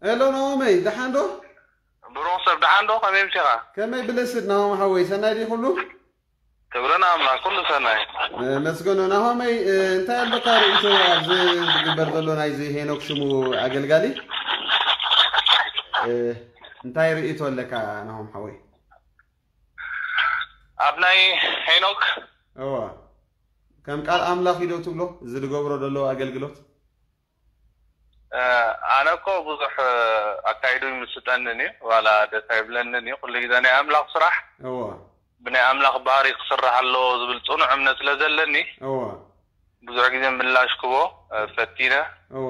ሄሎ ናሆመይ፣ ደሓን ዶ? ብሩኽ ሰብ፣ ደሓን ዶ? ከመይ ምሲኻ? ከመይ ብልስድ ናሆም ሓወይ፣ ሰናይ ድዩ ኩሉ? ክብሪ ንኣምላኽ፣ ኩሉ ሰናይ። እ፣ መስገኖ ናሆመይ፣ እ፣ እንታይ ኣለካ ርእይቶ ኣብዚ ዝግበር ዘሎ ናይዚ ሄኖክ ሽሙ ኣገልጋሊ? እ፣ እንታይ ርእይቶ ኣለካ ናሆም ሓወይ? ኣብ ናይ ሄኖክ? እዋ። ከም ቃል ኣምላኽ እዩ ዶ ትብሎ? እዚ ዝገብሮ ዘሎ ኣገልግሎት? እ፣ ኣነ እኮ ብዙሕ፣ እ፣ ኣካይዱ ይምስጠንን እዩ፣ ዋላ ደስ ኣይብለንን እዩ። ኩሉ ግዜ ናይ ኣምላኽ ስራሕ እዋ። ብናይ ኣምላኽ ባህሪ ክስራሕ ኣለዎ ዝብል ጽኑዕ እምነት ስለ ዘለኒ፣ እዋ። ብዙሕ ግዜ ምላሽ ክቦ፣ እ፣ ፈቲነ። እዋ።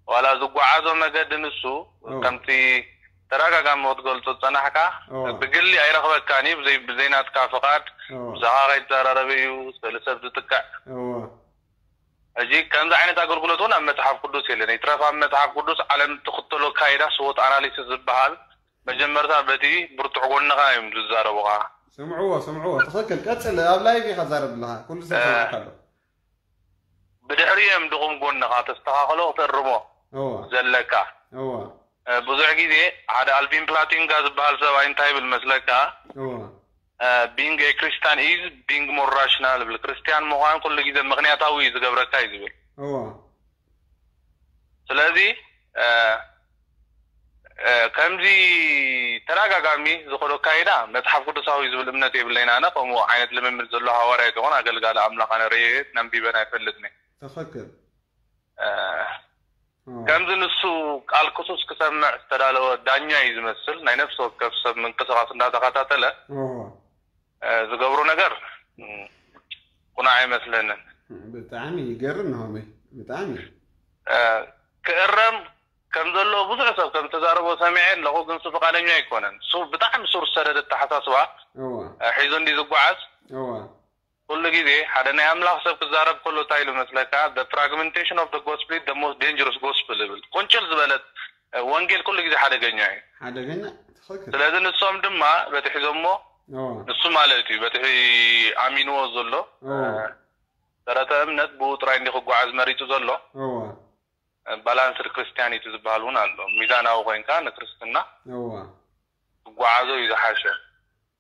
ዋላ ዝጓዓዞ መገዲ ንሱ፣ እዋ። ከምቲ ተደጋጋሚ ክትገልጾ ዝጸናሕካ፣ እዋ። ብግሊ ኣይረኽበካን እዩ፣ ብዘይ-፣ ብዘይናትካ ፍቓድ፣ እዋ። ብዛዕባ ከይተዘራረበ እዩ፣ ስእሊ ሰብ ዝጥቅዕ። እዋ። ሕጂ ከምዚ ዓይነት ኣገልግሎት እውን ኣብ መጽሓፍ ቅዱስ የለን። ይትረፍ ኣብ መጽሓፍ ቅዱስ ዓለም ትኽተሎ ኣካይዳ ስዎት ኣናሊሲስ ዝበሃል መጀመርታ በቲ ብርቱዕ ጎንኻ እዮም ዝዛረቡኻ። ስምዕዎ፣ ስምዕዎ። ትኽክል። ቀጽል። ኣብ ላይቭ ኢኻ ትዛረብ ዘለኻ። ኩሉ ሰብ እ፣ ሰሚዕካ ኣሎ። ብድሕሪ እዮም ድኹም ጎንኻ ተስተኻኽሎ፣ ክትእርሞ እዋ። ዘለካ። እዋ። እ፣ ብዙሕ ግዜ ሓደ ኣልቪን ፕላቲንጋ ዝበሃል ሰብኣይ እንታይ ይብል መስለካ? እዋ። እ፣ being a Christian is being more rational ይብል። ክርስትያን ምዃን ኩሉ ግዜ ምኽንያታዊ እዩ ዝገብረካ እዩ ዝብል። እዋ። ስለዚ፣ እ፣ እ፣ ከምዚ ተደጋጋሚ ዝኸዶ ኣካይዳ መጽሓፍ ቅዱሳዊ ዝብል እምነት የብለይን። ኣነ ከምኡ ዓይነት ልምምድ ዘሎ ሃዋርያ ኣይኮን ኣገልጋሊ ኣምላኽ ኣነ ርእየ ነንቢበን ኣይፈልጥን እየ። ትኽክል። እ፣ እዋ። ከምዚ ንሱ ቃል ክሱስ ክሰምዕ ዝተዳለወ ዳኛ እዩ ዝመስል። ናይ ነፍሲ ወከፍ ሰብ ምንቅስቓስ እንዳተኸታተለ እዋ። እ፣ ዝገብሮ ነገር፣ እ፣ ቁኑዕ ኣይመስለንን። ብጣዕሚ ይገርም ናሆመይ፣ ብጣዕሚ። እ፣ ክእረም ከም ዘለዎ ብዙሕ ሰብ ከም ዝተዛረቦ ሰሚዐ ኣለኹ፣ ግን እሱ ፍቓደኛ ኣይኮነን። እሱ ብጣዕሚ ሱር ዝሰደደ ኣተሓሳስባ፣ እዋ። እ፣ ሒዙ እንዲ ዝጓዓዝ፣ እዋ። ኩሉ ግዜ ሓደ ናይ ኣምላኽ ሰብ ክዛረብ ከሎ እንታይ ኢሉ መስለካ? The fragmentation of the gospel is the most dangerous gospel ይብል። ቁንጭል ዝበለት፣ እ፣ ወንጌል ኩሉ ግዜ ሓደገኛ እዩ። ሓደገኛ፣ ትኽክል። ስለዚ ንሶም ድማ በቲ ሒዞሞ፣ እዋ። ንሱ ማለት እዩ፣ በቲ ኣሚንዎ ዘሎ፣ እዋ። እ፣ ሰረተ እምነት ብኡ ጥራይ እንዲ ክጓዓዝ መሪጹ ዘሎ። እዋ። እ፣ ባላንስድ ክርስቲያኒቲ ዝበሃል እውን ኣሎ። ሚዛናዊ ኮይንካ ንክርስትና እዋ። ክጓዓዞ እዩ ዝሓሸ።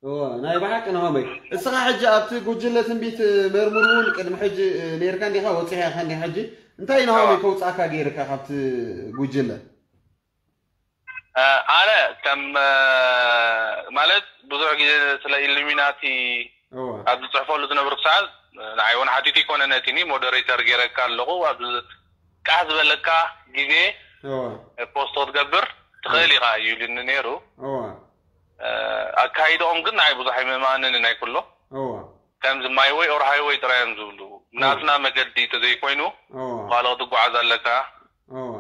እዋ፣ ናይ ብሓቂ ናሆመይ። እስኻ ሕጂ ኣብቲ ጉጅለ ትንቢት መርሙር እውን ቅድሚ ሕጂ፣ እ፣ ነይርካ እንዲኻ፣ ወጺኻ ኢኻ እንዲኻ ሕጂ። እንታይ ናሆመይ እዋ። ከውጻእካ ገይርካ ካብቲ ጉጅለ? እ፣ ኣነ ከም፣ እ፣ ማለት ብዙሕ ግዜ ስለ ኢሉሚናቲ እዋ። ኣብ ዝጽሕፈሉ ዝነበርኩ ሰዓት፣ እ፣ ንዓይ እውን ሓቲቱ ይኮነ ነቲኒ ሞደሬተር ገይረካ ኣለኹ። ኣብ ቃሕ ዝበለካ ግዜ እዋ። ፖስት ክትገብር ትኽእል እዋ። ኢኻ እዩ ኢሉኒ ነይሩ። እዋ። እ፣ ኣካይድኦም ግን ንዓይ ብዙሕ ኣይምእማንን ናይ ኩሎ። እዋ። ከምዚ ማይ ወይ ኦር ሃይወይ ጥራይ እዮም ዝብሉ። እዋ። ናትና መገዲ ተዘይኮይኑ እዋ። ካልኦ ትጓዓዝ ኣለካ እዋ።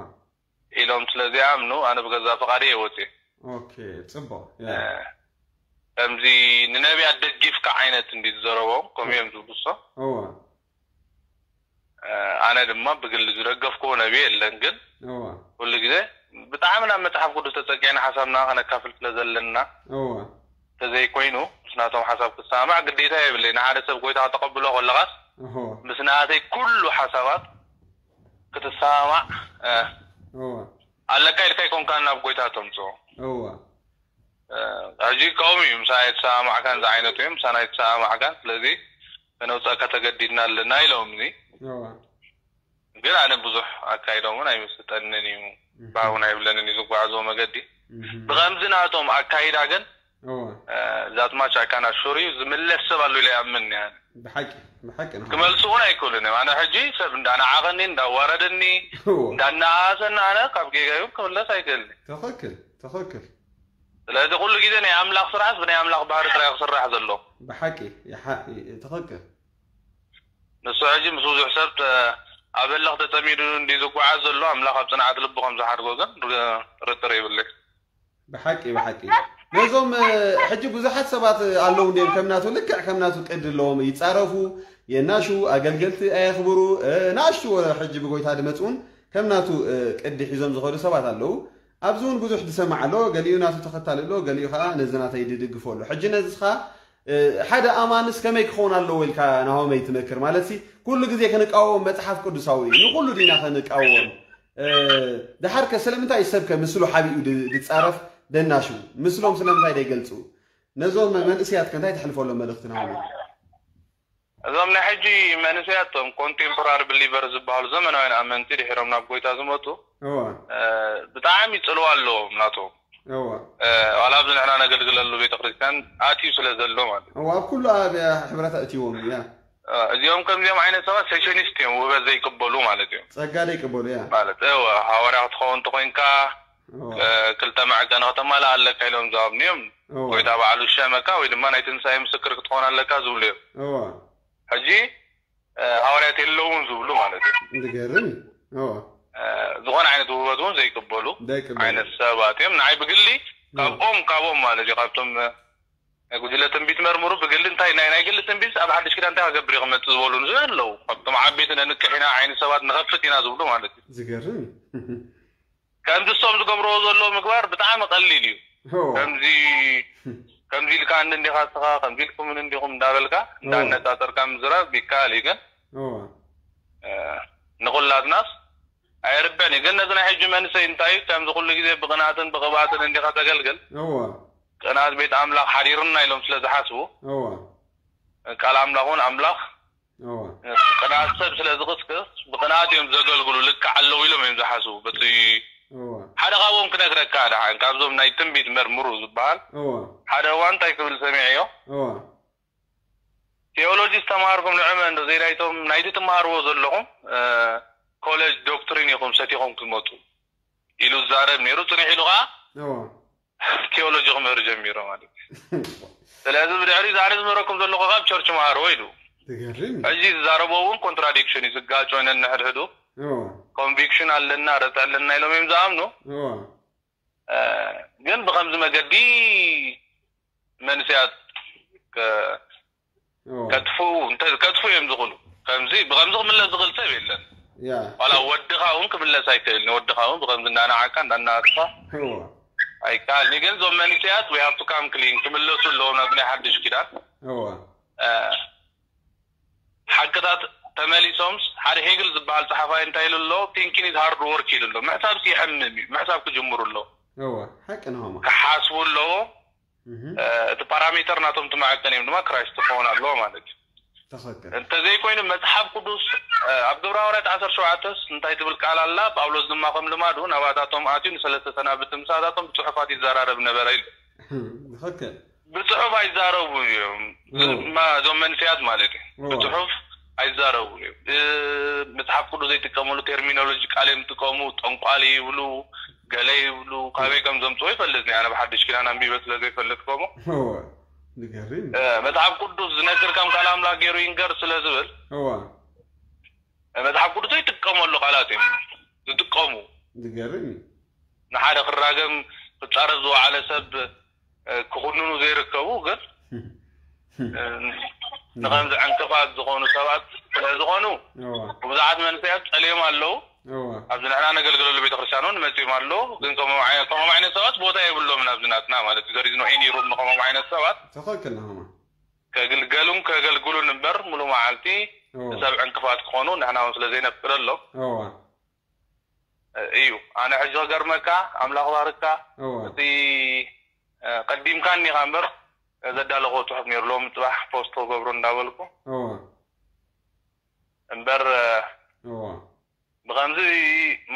ኢሎም ስለ ዘይኣምኑ ኣነ ብገዛ ፍቓደይ እየ ወፅየ። ኦኬ፣ ጽቡቕ። ያ። እ፣ ከምዚ ንነቢያት ደጊፍካ ዓይነት እንዲ ዝዘረቦም ከምኡ እዮም ዝብሉ እሶም። እዋ። እ፣ ኣነ ድማ ብግሊ ዝደገፍክዎ ነቢ የለን፣ ግን እዋ። ኩሉ ግዜ ብጣዕሚ ናብ መጽሓፍ ቅዱስ ተጸጊዕና ሓሳብና ከነካፍል ስለ ዘለና እዋ። ተዘይኮይኑ ምስ ናቶም ሓሳብ ክሰማማዕ ግዴታ የብለይ። ንሓደ ሰብ ጎይታ ከተቐብሎ ከለኻስ እሆ። ምስ ናተይ ኩሉ ሓሳባት ክትሰማማዕ፣ እ፣ እዋ። ኣለካ ኢልካ ኣይኮንካን ናብ ጎይታ ተምጽኦ። እዋ። እ፣ ሕጂ ከምኡ እዩ፣ ምሳና ኣይተሰማማዕካን ዝዓይነቱ እዩ፣ ምሳና ኣይተሰማማዕካን፣ ስለዚ ከነውፀካ ተገዲድና ኣለና ኢሎምኒ። እዋ። ግን ኣነ ብዙሕ ኣካይዶም እውን ኣይምስጠንን እዩ፣ እህ። ባህውን ኣይብለንን እዩ ዝጓዓዝዎ መገዲ። እህ። ብኸምዚ ናቶም ኣካይዳ ግን፣ እዋ። እ፣ ዛት ማች ኣይ ካን ኣሹር እዩ፣ ዝምለስ ሰብ ኣሎ ኢለ ይኣምን እየ። ብሓቂ፣ ብሓቂ ንኻ። ክመልሱ እውን ኣይክእሉን እዮም። ኣነ ሕጂ ሰብ እንዳነዓቐኒ፣ እንዳዋረደኒ፣ እዋ። እንዳነኣሰኒ ኣነ ካብ ጌጋይ እውን ክምለስ ኣይክእልን። ትኽክል፣ ትኽክል። ስለዚ ኩሉ ግዜ ናይ ኣምላኽ ስራሕስ ብናይ ኣምላኽ ባህሪ ጥራይ ክስራሕ ዘሎ። ብሓቂ፣ ይሓ-፣ ይ-፣ ትኽክል። ንሱ ሕጂ ምስ ብዙሕ ሰብ ተ-፣ ኣብ ህልኽ ተጸሚዱ እንዲ ዝጓዓዝ ዘሎ ኣምላኽ ኣብ ጽንዓት ልቡ ከም ዝሓድጎ ግን ር-፣ ጥርጥር የብለይ። ብሓቂ፣ ብሓቂ። ነዞም፣ እ፣ ሕጂ ብዙሓት ሰባት ኣለዉ እንድዮም ከም ናቱ፣ ልክዕ ከም ናቱ ቅዲ ኣለዎም። ይጻረፉ፣ የናሹ፣ ኣገልገልቲ ኣየኽብሩ፣ እ፣ ንኣሽቱ ወረ ሕጂ ብጎይታ ድመጽኡን ከም ናቱ፣ እ፣ ቅዲ ሒዞም ዝኸዱ ሰባት ኣለዉ። ኣብዚ እውን ብዙሕ ዝሰማዕ ኣሎ፣ ገሊኡ ናቱ ተኸታሊ ኣሎ፣ ገሊኡ ኸዓ ነዚ ናተይ ድድግፎ ኣሎ። ሕጂ ነዚ ኸዓ፣ እ፣ ሓደ ኣማንስ ከመይ ክኸውን ኣለዎ ኢልካ ናሆመይ ትመክር? ማለትሲ፣ ኩሉ ግዜ ክንቃወም መጽሓፍ ቅዱሳዊ እዩ። ንኹሉ ዲና ክንቃወም? እ፣ ደሓር ከ ስለምንታይ እዩ ሰብ ከ ምስሉ ሓቢኡ ድ-፣ ድጻረፍ ደናሹ? ምስሎም ስለምንታይ ደይገልጹ? ነዞም መንእሰያት ከ እንታይ ተሕልፈሎም መልእኽቲ ናሆም? እዞም ናይ ሕጂ መንእሰያት፣ እቶም ኮንቴምፖራሪ ብሊቨር ዝበሃሉ ዘመናውያን ኣመንቲ ድሒሮም ናብ ጎይታ ዝመጹ፣ እወ። እ፣ ብጣዕሚ ጽልዋ ኣለዎም ናቶም። እወ። እ፣ ዋላ ኣብዚ ንሕና ነገልግለሉ ቤተክርስትያን ኣትዩ ስለ ዘሎ ማለት እዩ። እወ፣ ኣብ ኩሉ ኣብ ሕብረት ኣእትይዎም እዩ፣ ያ። እ፣ እዚኦም ከምዚኦም ዓይነት ሰባት ሴሽኒስት እዮም፣ ውህበት ዘይቅበሉ ማለት እዮም። ጸጋ ዘይቅበሉ፣ ያ። ማለት፣ እወ፣ ሃዋርያ ክትኸውን እንተኾይንካ፣ እወ። እ፣ ክልተ መዐቀኒ ከተማልእ ኣለካ ኢሎም ዝሃብኑ እዮም። እወ። ጎይታ ባዕሉ ዝሸመካ ወይ ድማ ናይ ትንሳኤ ምስክር ክትኾን ኣለካ ዝብሉ እዮም። እወ። ሕጂ፣ እ፣ ሃዋርያት የለውን ዝብሉ ማለት እዩ። ዝገርም እዩ። እወ። እ፣ ዝኾነ ዓይነት ውህበት እውን ዘይቅበሉ ዘይቅበሉ። ዓይነት ሰባት እዮም። ንዓይ ብግሊ እወ። ካብኦም፣ ካብኦም ማለት እዩ፣ ካብቶም፣ እ፣ ናይ ጉጅለ ትንቢት መርምሩ ብግሊ እንታይ ናይ፣ ናይ ግሊ ትንቢት ኣብ ሓድሽ ኪዳን እንታይ ክገብር እዩ ክመጽእ ዝበሉ ንሱ ኣለዉ። ካብቶም ዓበይቲ ነንቅሕ ኢና፣ ዓይኒ ሰባት ንኸፍት ኢና ዝብሉ ማለት እዩ። ዝገርም እዩ። ከምዚ እሶም ዝገብርዎ ዘለዉ ምግባር ብጣዕሚ ቀሊል እዩ። እወ። ከምዚ፣ ከምዚ ኢልካኒ እንዲኻ እስኻ፣ ከምዚ ኢልኩምን እንዲኹም እንዳበልካ፣ እወ። እንዳነጻጸርካ ምዝራብ ይከኣል እዩ፣ ግን፣ እወ። እ፣ ንኹላትናስ ኣየርብሕን እዩ። ግን ነዚ ናይ ሕጂ መንእሰይ እንታይ እዩ፣ ከምዚ ኩሉ ግዜ ብቕንኣትን ብቕብኣትን እንዲኻ ተገልግል፣ እወ። ቅንኣት ቤት ኣምላኽ ሓዲርና ኢሎም ስለ ዝሓስቡ፣ እወ። ቃል ኣምላኽ እውን ኣምላኽ እወ። ቅንኣት ሰብ ስለ ዝቕስቅስ፣ ብቕንኣት እዮም ዘገልግሉ፣ ልክዕ ኣለዉ ኢሎም እዮም ዝሓስቡ። በቲ እወ። ሓደ ካብኦም ክነግረካ ደሓን፣ ካብዞም ናይ ትንቢት መርምሩ ዝበሃል፣ እወ። ሓደ እዋን እንታይ ክብል ሰሚዐዮ? እወ። ቴዎሎጂ ዝተምሃርኩም ንዕመ እንዶ ዘይናይቶም፣ ናይቲ ትምሃርዎ ዘለኹም፣ እ፣ ኮሌጅ ዶክትሪን ኢኹም ሰቲኹም ክትመጹ ኢሉ ዝዛረብ ነይሩ። ጽኒሕ ኢሉ ኸዓ እወ። ቴዎሎጂ ክምህር ጀሚሩ ማለት እዩ። ስለዚ ብድሕሪ እዚ ኣነ ዝምህረኩም ዘለኹ ካብ ቸርች መሃርዎ ኢሉ። ዝገርም እዩ። ሕጂ ዝዛረቦ እውን ኮንትራዲክሽን እዩ፣ ዝጋጮ ነንሕድሕዱ። እወ። ኮንቪክሽን ኣለና፣ ረትዒ ኣለና ኢሎም እዮም ዝኣምኑ። እወ። እ፣ ግን ብኸምዚ መገዲ መንስያት ከ-፣ እወ። ከጥፍኡ፣ እንተ-፣ ከጥፍኡ እዮም ዝኽእሉ። ከምዚ፣ ብኸምዚ ክምለስ ዝኽእል ሰብ የለን። ያ። ዋላ ወድኻ እውን ክምለስ ኣይክእልን። ወድኻ እውን ብኸምዚ እንዳነዓቅካ፣ እንዳናወጽኻ እወ። ኣይከኣልን። ግን እዞም መንስያት we have to come clean ክምለሱ ኣለዎም ናብዚ ናይ ሓድሽ ኪዳን። እወ። እ፣ ሓቅታት ተመሊሶምስ፣ ሓደ ሄግል ዝበሃል ጸሓፋይ እንታይ ኢሉ ኣሎ? Thinking is hard work ኢሉ ኣሎ። ምሕሳብሲ የሕምም እዩ። ምሕሳብ ክጅምሩ ኣለዎ። እወ፣ ሓቂ ንሆማ። ክሓስቡ ኣለዎ። እህ። እ፣ እቲ ፓራሜተር ናቶም እቲ መዐቀኒ እዮም ድማ ክራይስት ክኸውን ኣለዎ ማለት እዩ። ትኽክል። እንተዘይኮይኑ መጽሓፍ ቅዱስ፣ እ፣ ኣብ ግብረ ሃዋርያት ዓሰርተ ሸውዓተስ እንታይ ትብል ቃል ኣላ? ጳውሎስ ድማ ከም ልማዱ ናባታቶም ኣትዩ ንሰለስተ ሰናብቲ ምሳታቶም ብጽሑፋት ይዘራረብ ነበረ ኢሉ። ትኽክል። ብጽሑፍ ኣይዛረቡ እዮም። እዎ። ማ-፣ እዞም መንስያት ማለት እዩ። እዎ። ብጽሑፍ ኣይዛረቡ እዮም። እ፣ መጽሓፍ ቅዱስ ዘይጥቀምሉ ቴርሚኖሎጂ ቃል እዮም ዝጥቀሙ፣ ጠንቋሊ ይብሉ፣ ገለ ይብሉ፣ ካበይ ከም ዘምጽኦ ይፈልጥ እየ። ኣነ ብሓድሽ ኪዳን ኣንቢበ ስለ ዘይፈልጥ ከምኡ። እዎ። ዝገርም። እ፣ መጽሓፍ ቅዱስ ዝነግር ከም ቃል ኣምላኽ ገይሩ ይንገር ስለ ዝብል፣ እዎ። መጽሓፍ ቅዱስ ዘይጥቀመሉ ቃላት እዮም ዝጥቀሙ። ዝገርም እዩ። ንሓደ ክራገም ክጻረፍ ዝወዓለ ሰብ፣ እ፣ ክኹንኑ ዘይርከቡ ግን፣ እ፣ ንኸምዚ ዕንቅፋት ዝኾኑ ሰባት ስለ ዝኾኑ፣ እዎ። ብዙሓት መንእሰያት ጸልዮም ኣለዉ። እዎ። ኣብዚ ንሕና ነገልግለሉ ቤተክርስትያን እውን መጺኦም ኣለዉ። ግን ከምኦም ዓይ-፣ ከምኦም ዓይነት ሰባት ቦታ የብሎምን ኣብዚ ናትና ማለት እዩ። There is no any room ንከምኦም ዓይነት ሰባት። ትኽክል ንሆማ። ከግልገሉን ከገልግሉን እምበር ሙሉ መዓልቲ እዎ። ንሰብ ዕንቅፋት ክኾኑ ንሕና እውን ስለ ዘይነፍቅደሎም እዎ። እዩ። ኣነ ሕጂ ክገርመካ፣ ኣምላኽ ባርካ፣ እዎ። እቲ፣ እ፣ ቀዲምካኒ ኢኻ እምበር ዘዳለኽዎ ጽሑፍ ነይሩ፣ ሎሚ ጽባሕ ፖስት ክገብሮ እንዳበልኩ። እዎ። እምበር፣ እ፣ እዎ። ብኸምዚ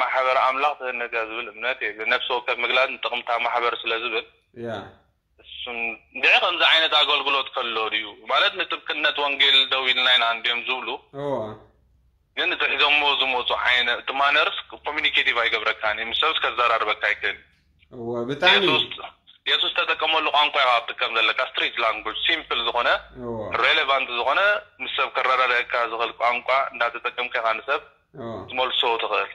ማሕበር ኣምላኽ ትህነጽ እያ ዝብል እምነት የብለይን። ነፍሲ ወከፍ ምግላጽ ንጥቕምታ ማሕበር ስለ ዝብል፣ ያ። እሱን እንድዒ ከምዚ ዓይነት ኣገልግሎት ከሎ ድዩ? ማለት ንጥብቅነት ወንጌል ደው ኢልና ኢና እንድዮም ዝብሉ። እዎ። ግን እቲ ሒዞሞ ዝመጹ ዓይነት፣ እቲ ማነርስ ኮሚኒኬቲቭ ኣይገብረካን እዩ። ምስ ሰብስ ከዘራርበካ ኣይክእል። እዎ፣ ብጣዕሚ። የሱስ፣ የሱስ ተጠቀመሉ ቋንቋ ኢኻ ክትጥቀም ዘለካ። ስትሪት ላንጉጅ፣ ሲምፕል ዝኾነ፣ እዎ። ሬሌቫንት ዝኾነ፣ ምስ ሰብ ከረዳድአካ ዝኽእል ቋንቋ እንዳተጠቀምካ ኢኻ ንሰብ እዎ። ትመልሶ ትኽእል።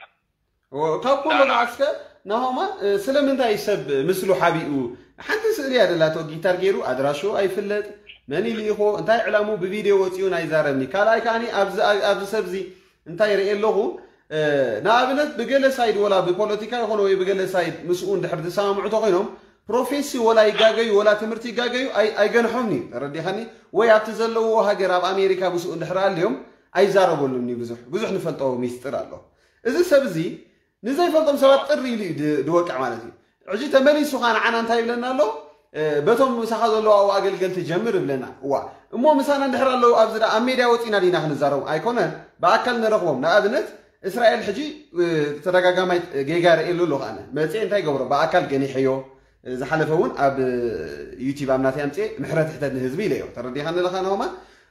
እዎ፣ ካብ ኩሉ ዳና። መዓስከ ናሆማ፣ እ፣ ስለምንታይ ሰብ ምስሉ ሓቢኡ? ሓንቲ ስእሊ እያ ደላቶ፣ ጊታር ገይሩ፣ ኣድራሹ ኣይፍለጥ፣ መን ይልኢኾ፣ እንታይ ዕላሙ ብቪድዮ ወፂኡ ኣይዛረብኒ። ካልኣይ ከዓኒ ኣብዚ፣ ኣብዚ ሰብዚ እንታይ ርኢ ኣለኹ፣ እ፣ ንኣብነት ብገለ ሳይድ ወላ ብፖለቲካ ይኾነ ወይ ብገለ ሳይድ ምስኡ እንድሕር ዝሰማምዑ ተኾይኖም፣ ፕሮፌሲ ወላ ይጋገዩ ወላ ትምህርቲ ይጋገዩ ኣይ-፣ ኣይገንሖምኒ። ተረዲኻኒ? ወይ ኣብቲ ዘለዎ ሃገር ኣብ ኣሜሪካ ምስኡ እንድሕር ኣልዮም ኣይዛረበሉኒ። ብዙሕ፣ ብዙሕ ንፈልጦ ሚስጥር ኣሎ። እዚ ሰብ እዚ ንዘይፈልጦም ሰባት ጥሪ ኢሉ እዩ ድ- ድወቅዕ ማለት እዩ። ሕጂ ተመሊሱ ኸዓ ንዓና እንታይ ይብለና ኣሎ? በቶም ምሳኻ ዘለዉ ኣብኡ ኣገልገልቲ ጀምር ይብለና። እዋ እሞ ምሳና እንድሕር ኣለዉ ኣብዚ ደኣ ኣብ ሜድያ ወፂና ዲና ክንዛረቡ ኣይኮነን፣ ብኣካል ንረኽቦም። ንኣብነት እስራኤል ሕጂ ተደጋጋማይ ጌጋ ርእየሉ ኣለኹ ኣነ። መፅኤ እንታይ ይገብሮ? ብኣካል ገኒሐዮ። ዝሓለፈ እውን ኣብ ዩቲብ ኣብ ናተይ ኣምፅኤ ምሕረት ሕተት ንህዝቢ ኢለዮ። ተረዲኻኒ ኣለኻ ናሆማ?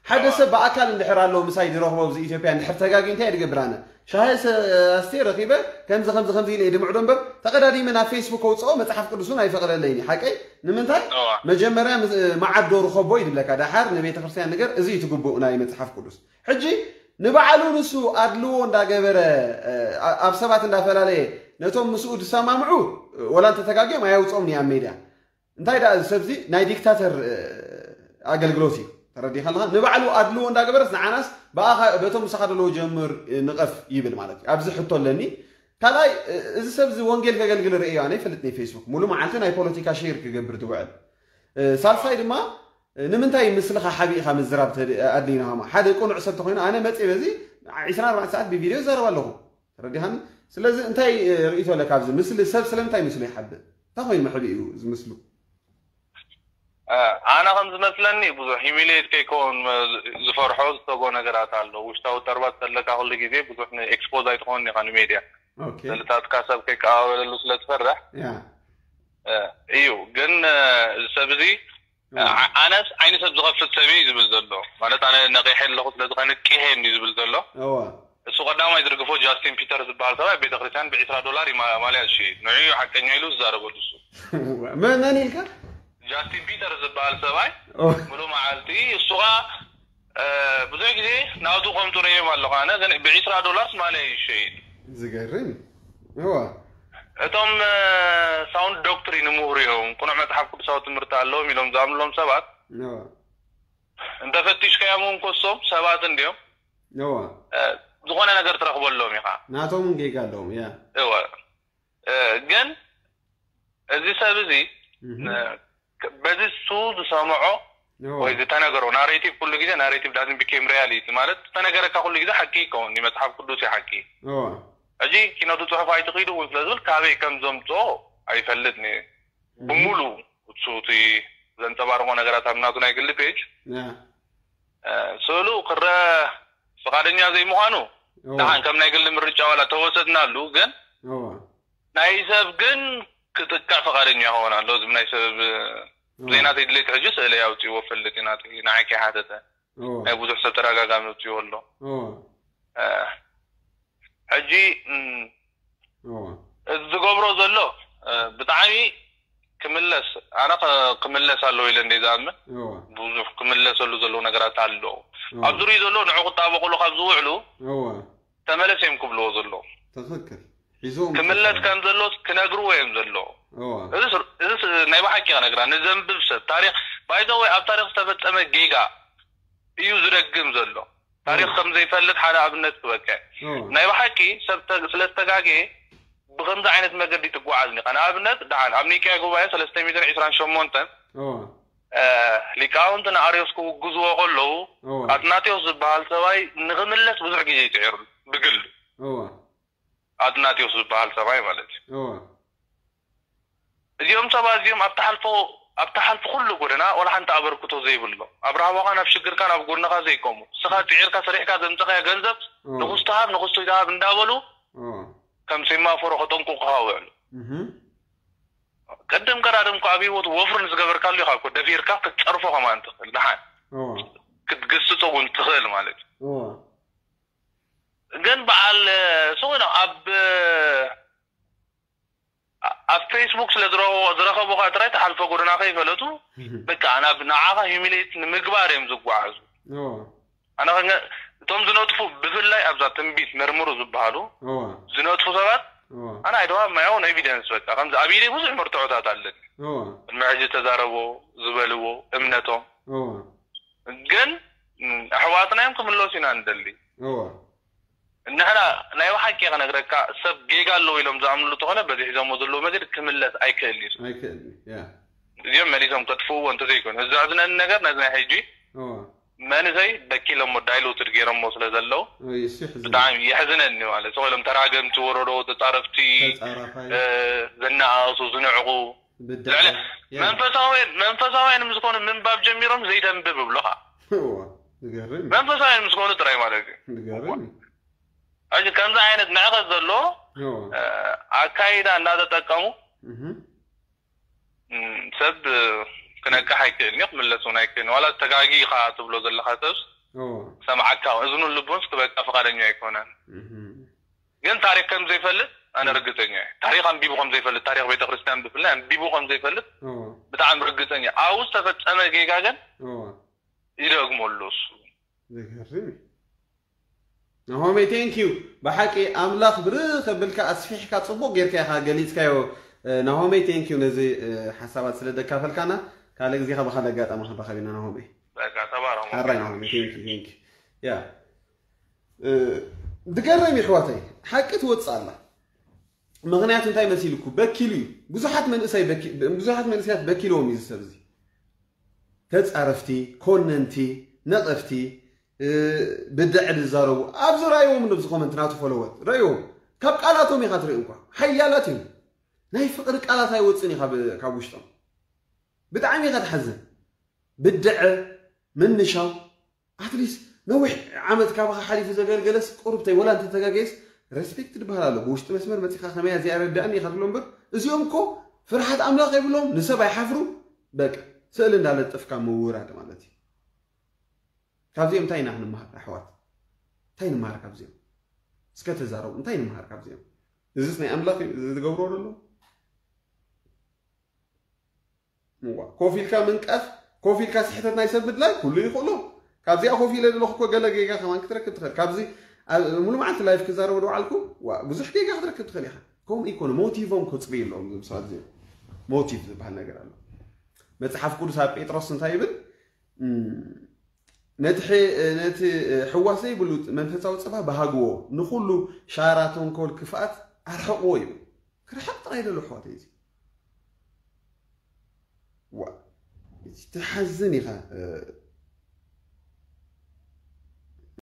ሓደ ሰብ ብኣካል እንድሕር ኣሎ ምሳይ ዝረኽቦ ኣብዚ ኢትዮጵያ እንድሕር ተጋጊ እንታይ ድገብር ኣነ? ሻሂ ሰ- ኣስቴ ረኺበ ከምዚ ከምዚ ከምዚ ኢለ ድምዕዶ እምበር ተቐዳዲመ ናብ ፌስቡክ ከውፅኦ መፅሓፍ ቅዱስ እውን ኣይፈቕደለይን እዩ። ሓቀይ ንምንታይ? መጀመርያ ምስ- መዓዶ ርኸቦ እዩ ድብለካ። ዳሓር ንቤተ ክርስቲያን ነገር እዚ እዩ ትግቡእ ናይ መፅሓፍ ቅዱስ። ሕጂ ንባዕሉ ንሱ ኣድልዎ እንዳገበረ ኣብ ሰባት እንዳፈላለየ ነቶም ምስኡ ዝሰማምዑ ወላ እንተተጋግዮም ኣየውፅኦም ንያ ሜድያ። እንታይ ደኣ እዚ ሰብዚ ናይ ዲክታተር ኣገልግሎት እዩ። ተረዲኻ ኣለኻ? ንባዕሉ ኣድልዎ እንዳገበረስ ንዓናስ ብኣኻ በቶም ምሳኻ ደለዎ ጀምር ንቐፍ ይብል ማለት እዩ። ኣብዚ ሕቶ ኣለኒ። ካልኣይ እዚ ሰብዚ ወንጌል ከገልግል ርእዮ ኣነ ይፈልጥ ናይ ፌስቡክ ሙሉ መዓልቲ ናይ ፖለቲካ ሼር ክገብር ዝውዕል። ሳልሳይ ድማ ንምንታይ ምስልኻ ሓቢእኻ ምዝራብ ኣድልዩ ናማ ሓደ ቅኑዕ ሰብ ተኮይኑ ኣነ መፅእ በዚ 24 ሰዓት ብቪድዮ ይዛረብ ኣለኹ። ተረዲኻኒ? ስለዚ እንታይ ርእቶ ኣለካ ኣብዚ ምስሊ ሰብ ስለምንታይ ምስሉ ይሓብእ እንታይ ኮይኑ መሕቢኡ እዚ ምስሉ? ኣነ ከም ዝመስለኒ ብዙሕ ሂሚሌት ከይከውን ዝፈርሖ ዝሰጎ ነገራት ኣሎ። ውሽጣዊ ተርባት ዘለካ ኩሉ ግዜ ብዙሕ ኤክስፖዝ ኣይትኸውን ኢኻ ንሜድያ። ሰልታትካ ሰብ ከይቀባበለሉ ስለ ትፈርሕ እዩ። ግን እዚ ሰብ እዚ ኣነስ ዓይኒ ሰብ ዝኸፍት ሰብ እየ ዝብል ዘሎ። ማለት ኣነ ነቂሐ ኣለኹ ስለዚ ከንቅሄ እንዲ ዝብል ዘሎ። እሱ ቀዳማይ ዝርግፎ ጃስቲን ፒተር ዝበሃል ሰብኣይ ቤተክርስትያን ብዒስራ ዶላር እዩ ማልያ ዝሽይጥ። ንዑ እዩ ሓቀኛ ኢሉ ዝዛረበሉ እሱ። መን መን ኢልካ? ጃስቲን ፒተር ዝበሃል ሰብኣይ ሙሉ መዓልቲ እሱ ኸዓ ብዙሕ ግዜ ናቱ ከም ጥሩዮም ኣለኹ ኣነ ግን ብዒስራ ዶላርስ ማልያ እዩ ዝሸይጥ። ዝገርም። እዋ እቶም ሳውንድ ዶክትሪን ምሁር እዮም፣ ቅኑዕ መጽሓፍ ቅዱሳዊ ትምህርቲ ኣለዎም ኢሎም ዝኣምንሎም ሰባት እንተፈቲሽካዮም እውን ኮሶም ሰባት እንድዮም። እዋ ዝኾነ ነገር ትረኽበሎም ኢኻ። ናቶም እውን ጌጋ ኣለዎም። ያ እወ ግን እዚ ሰብ እዚ በዚ እሱ ዝሰምዖ ወይ ዝተነገሮ ናሬቲቭ ኩሉ ግዜ ናሬቲቭ ዳዝን ቢኬም ሪያሊቲ ማለት ዝተነገረካ ኩሉ ግዜ ሓቂ ይከውን እዩ። መፅሓፍ ቅዱስ እዩ ሓቂ። ሕጂ ኪነቱ ፅሑፍ ኣይትኺዱ እውን ስለ ዝብል ካበይ ከም ዘምፅኦ ኣይፈልጥን እየ። ብሙሉ እሱ እቲ ዘንፀባርቆ ነገራት ኣብ ናቱ ናይ ግሊ ፔጅ ስእሉ ክረአ ፍቃደኛ ዘይምዃኑ ደሓን ከም ናይ ግሊ ምርጫ ዋላ ተወሰድናሉ ግን ናይ ሰብ ግን ክጥቅዕ ፍቃደኛ ይኸውን ኣሎ። ዝም ናይ ሰብ ዘይናተይ ድሌት ሕጂ ስእለ ኣውፅእዎ ፈልጥ እዩ ናተይ ንዓይ ከይሓተተ ናይ ብዙሕ ሰብ ተደጋጋሚ ኣውፅእዎ ኣሎ። ሕጂ እዚ ዝገብሮ ዘሎ ብጣዕሚ ክምለስ ኣነ ክምለስ ኣለዎ ኢለ እንደ ዝኣምን ብዙሕ ክምለሰሉ ዘለዎ ነገራት ኣሎ። ኣብ ዙርዩ ዘሎ ንዑ ክጣበቁሉ ካብ ዝውዕሉ ተመለስ እዮም ክብልዎ ዘለዉ። ትኽክል። ሒዞም ክምለስ ከም ዘሎስ ክነግርዎ እዮም ዘለዉ። እዚስ እዚስ ናይ ብሓቂ ክነግራ ንዘንብብ ሰብ ታሪኽ ባይዘወይ ኣብ ታሪኽ ዝተፈጸመ ጌጋ እዩ ዝደግም ዘሎ። ታሪኽ ከም ዘይፈልጥ ሓደ ኣብነት ክበከ ናይ ብሓቂ ሰብ ስለ ዝተጋገየ ብከምዚ ዓይነት መገዲ ትጓዓዝ ኒኻ። ንኣብነት ደሓን ኣብ ኒቅያ ጉባኤ ሰለስተ ሚእትን ዕስራን ሸሞንተን ሊቃውንቲ ንኣርዮስ ክውግዝዎ ከለዉ ኣትናቴዎስ ዝበሃል ሰብኣይ ንኽምለስ ብዙሕ ግዜ ይፅዒሩ ብግሉ። ኣትናቴዎስ ዝበሃል ሰብኣይ ማለት እዩ። እዚኦም ሰባት እዚኦም ኣብ ተሓልፎ ኣብ ተሓልፎ ኩሉ ጎደና ወላ ሓንቲ ኣበርክቶ ዘይብሎም ኣብ ራህዋኻን ኣብ ሽግርካን ኣብ ጎንኻ ዘይቆሙ ንስኻ ፅዒርካ ሰሪሕካ ዘምፀኻዮ ገንዘብ ንኹስቲ ሃብ ንኹስቲ ሃብ እንዳበሉ ከም ሴማፎሮ ከጠንቁቑኻ ውዕሉ። ቅድም ቀዳድም እኮ ኣብ ህይወት ወፍሪ ንዝገበርካሉ ኢኻ እኮ ደፊርካ ክትፀርፎ ከማን ትኽእል ደሓን ክትግስፆ እውን ትኽእል ማለት እዩ። ግን በዓል ስውነ ኣብ ኣብ ፌስቡክ ስለ ዝረኸቡኻ ጥራይ ተሓልፎ ጎደና ከይፈለጡ በቃ ናብ ንዓኻ ሂሚሌት ንምግባር እዮም ዝጓዓዙ። ኣነ እቶም ዝነጥፉ ብፍላይ ኣብዛ ትንቢት መርምሩ ዝበሃሉ ዝነጥፉ ሰባት ኣነ ኣይደዋ ማያውን ኤቪደንስ በቃ ከምዚ ኣብ ኢደይ ብዙሕ መርትዖታት ኣለኒ። ቅድሚ ሕጂ ዝተዛረቦ ዝበልዎ እምነቶም ግን ኣሕዋትና እዮም ክምለሱ ኢና ንደሊ። ንሕና ናይ ብሓቂ ክነግረካ ሰብ ጌጋ ኣለዎ ኢሎም ዝኣምንሉ ተኾነ በዚ ሒዞሞ ዘለዉ መገዲ ክምለስ ኣይክእል እዩ። ኣይክእል ያ እዚኦም መሊሶም ከጥፍእዎ እንተዘይኮይኑ እዚ ዘሕዝነኒ ነገር ነዚ ናይ ሕጂ እዋ መንእሰይ በኪሎሞ ዳይሉትድ ገይሮሞ ስለ ዘለዉ ይስሕዝን ብጣዕሚ የሕዝነኒ። ማለት ስቕ ኢሎም ተራገምቲ፣ ወረዶ ተጻረፍቲ፣ ተጻራፋይ እ፣ ዝነኣሱ ዝንዕቑ ብድዐ ልዕሊ መንፈሳውያን መንፈሳውያን ምስ ኮኑ ምንባብ ጀሚሮም ዘይተንብብ ይብሉኻ። እዋ ዝገርም እዩ። መንፈሳውያን ምስ ኮኑ ጥራይ ማለት እዩ። ዝገርም እዩ። ሕጂ ከምዚ ዓይነት ንዕቀት ዘለዎ እዋ እ፣ ኣካይዳ እንዳተጠቀሙ እህ እም፣ ሰብ ክነቅሕ ኣይክእልን እዩ፣ ክምለስ እውን ኣይክእልን። ዋላ ተጋጊኻ ትብሎ ዘለኻ ሰብ እዋ ሰምዓካ እዝኑን ልቡን ክበቃ ፍቓደኛ ኣይኮነን። እህ ግን ታሪኽ ከም ዘይፈልጥ ኣነ ርግጸኛ እየ። ታሪኽ ኣንቢቡ ከም ዘይፈልጥ፣ ታሪኽ ቤተክርስትያን ብፍላይ ኣንቢቡ ከም ዘይፈልጥ እዋ ብጣዕሚ ርግጸኛ እየ። ኣብኡ ዝተፈጸመ ጌጋ ግን እዋ ይደግሞ ኣሎ እሱ። ዝገርም እዩ። ናሆመይ thank you። ብሓቂ ኣምላኽ ብርኽ ከብልካ ኣስፊሕካ ጽቡቕ ጌርካ ኢኻ ገሊጽካዮ። እ፣ ናሆመይ thank you ነዚ እ፣ ሓሳባት ስለ ደካፈልካና። ካልእ ግዜ ካብ ካልእ ኣጋጣሚ ክንራኸብ ኢና ናሆመይ። በቃ ተባረኹ። ሓራይ ናሆመይ thank you thank you። ያ እ፣ ዝገርም እዩ ኣሕዋተይ፣ ሓቂ ትወጽእ ኣላ። ምኽንያቱ እንታይ መሲልኩ በኪሉ እዩ። ብዙሓት መንእሰይ በኪ- ብዙሓት መንእሰያት በኪልዎም እዩ እዚ ሰብ እዚ። ተጻረፍቲ፣ ኮነንቲ፣ ነቐፍቲ፣ እ፣ ብድዐ ዝዛረቡ ኣብዚ ራእይዎም ነብዚ ኮመንት ናቱ ፎሎወት ራእይዎም ካብ ቃላቶም ኢኻ ትርኢ እንኳ ሓያላት እዮም። ናይ ፍቕሪ ቃላት ኣይወፅን እዩ ካብ ውሽጦም። ብጣዕሚ ኢኻ ትሓዝን። ብድዐ ምንሻው ኣትሊስ ነዊሕ ዓመት ካባኻ ሓሊፉ ዘገልገለስ ቁሩብተይ ወላ እንተተጋገየስ ሬስፔክት ዝበሃል ኣሎ። ብውሽጢ መስመር መፂኻ ከመያ እዚኣ ረዳእኒ ኢኻ ትብሎ እምበር እዚኦም እኮ ፍርሓት ኣምላኽ የብሎም፣ ንሰብ ኣይሓፍሩ። በቃ ስእሊ እንዳለጠፍካ ምውራድ ማለት እዩ። ካብዚኦም እንታይ ኢና ክንመሃር ኣሕዋት? እንታይ ንምሃር ካብዚኦም? እስከ ተዛረቡ። እንታይ ንምሃር ካብዚኦም? እዚስ ናይ ኣምላኽ እዩ እዚ ዝገብሮ ዘሎ? እዋ ኮፍ ኢልካ ምንቃፍ፣ ኮፍ ኢልካ ስሕተት ናይ ሰብ ምድላይ ኩሉ ይኽእሎ። ካብዚኣ ኮፍ ኢለ ዘለኹ እኮ ገለ ጌጋ ከማን ክትረክብ ትኽእል። ካብዚ ኣብ ሙሉ መዓልቲ ላይፍ ክዛረቡ ዝወዓልኩ ዋ ብዙሕ ጌጋ ክትረክብ ትኽእል ኢኻ። ከምኡ ይኮነ ሞቲቮም ከፅሪ ኣለዎም እዞም ሰባት እዚኦም። ሞቲቭ ዝበሃል ነገር ኣሎ። መፅሓፍ ቅዱስ ኣብ ጴጥሮስ እንታይ ይብል? እም፣ ነቲ ሕ- ነቲ ሕዋስ ዘይብሉ መንፈሳዊ ፀባ ብሃግዎ ንኩሉ ሻራ ተንኮል ክፍኣት ኣርሕቅዎ ይብል። ክርሕቅ ጥራይ ደሎ ኣሕዋተይ እዚ ዋ እዚ ትሓዝን ኢኻ።